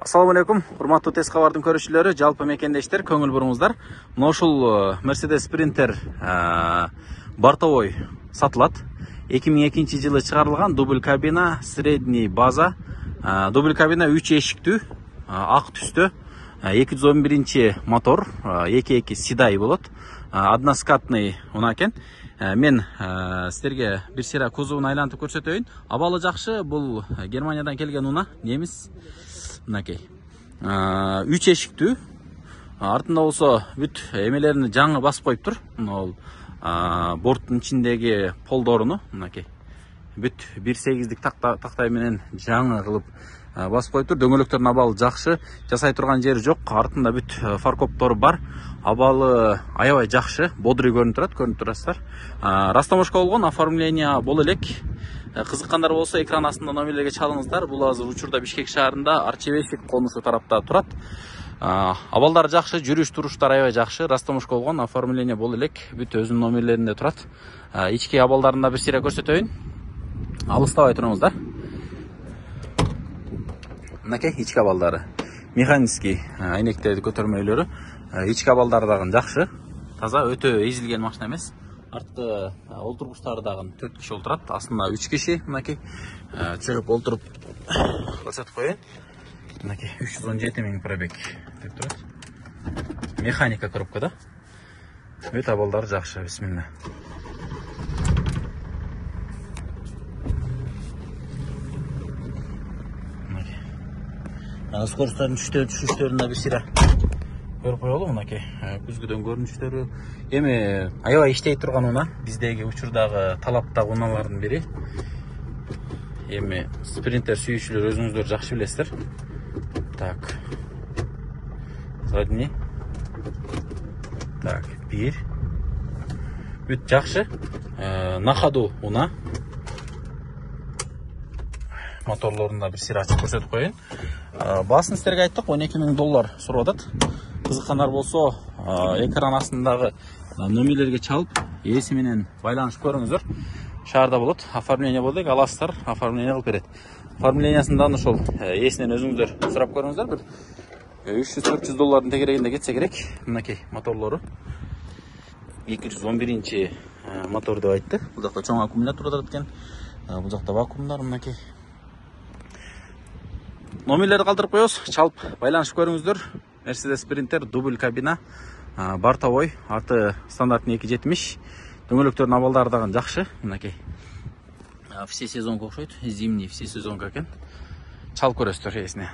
Assalamu alaikum, урматтуу Тез кабардын көрүүчүлөрү, жалпы мекендештер, көңүл буруңуздар. Мына ушул Mercedes Sprinter бортовой сатылат. 2002 жылы чыгарылган дубль кабина, средний база. Дубль кабина 3 эшиктүү, ак түстө, 211 мотор, 2.2 седай болот. Односкатный унаа экен. Мен силерге бир сыйра кузовун айлантып көрсөтөйүн. Абалы жакшы, бул Германиядан келген унаа, немис. Мынакей. 3 эшиктүү. Артында болсо бүт эмелерин жаңы басып коюптур. Мына борттун ичиндеги полдоруну, мынакей. Бүт 1.8дик тактай менен жаңы кылып басып коюптур. Дөңгөлөктөрдүн абалы жакшы, жасай турган жери жок. Артында бүт фаркоптору бар. Абалы аябай жакшы, бодрый көрүнүп турасыздар. Растаможка болгон, оформление боло элек. Кызыккандар болсо экран астында номерлерге чалыңыздар. Бул азыр учурда Бишкек шаарында Арчебешик конушу тарапта турат. Абалдар жакшы, жүрүш туруштар аябай жакшы. Растаможка болгон, оформление боло элек. Бүт өзүнүн номерлеринде турат. Ички абалдарын бир сыйра көрсөтөйүн. Алыстабай туруңуздар. Мынакей ички абалдары. Механический айнектерди көтөрмөлөрү. Ички абалдары дагы жакшы. Таза, өтө эзилген машина эмес. Арткы олтургучтары дагы 4 киши олтурат. Астында 3 киши. Мынакей чыгып олтуруп көрсөтүп коеюн. Мынакей 317 000 пробег деп турат. Механика коробкада. Өт абалдары жакшы, бисмилла. Скоросттардын түшүштөрүн бир сыйра көрүп коелу. Мынакей күзгүдөн көрүнүштөрү эми аябай иштей турган унаа. Биздеги учурдагы талаптагы унаалардын бири. Эми спринтер сүйүүчүлөр өзүңүздөр жакшы билесиздер. Так. Задний. Так, 1. Бүт жакшы. На ходу унаа. Моторлорунда бир сыйра ачып көрсөтүп коеюн. Баасын силерге айттык, $12 000 сурап атат. Кызыккандар болсо, экран астындагы номерлерге чалып, ээси менен байланышып көрүңүздөр. Шаарда болот, оформление болдук, аласыздар, оформление кылып берет. Оформлениясын дагы ошол ээсинен өзүңүздөр сурап көрүңүздөр. Бир $300-400 тегерегинде кетсе керек. Мынакей моторлору. 211 мотор деп айтты. Бул жакта чоң аккумулятор турат экен. Бул жакта вакуумдар, мынакей. Номерлерди калтырып коебуз, чалып байланышып көрүңүздөр. Mercedes Sprinter дубль кабина, бортовой, аты стандартный 270. Дөңгөлөктөрдүн абалдары дагы жакшы, мынакей. Все сезонго окшойт, зимний все сезонго экен. Чалып көрөсүздөр ээсине.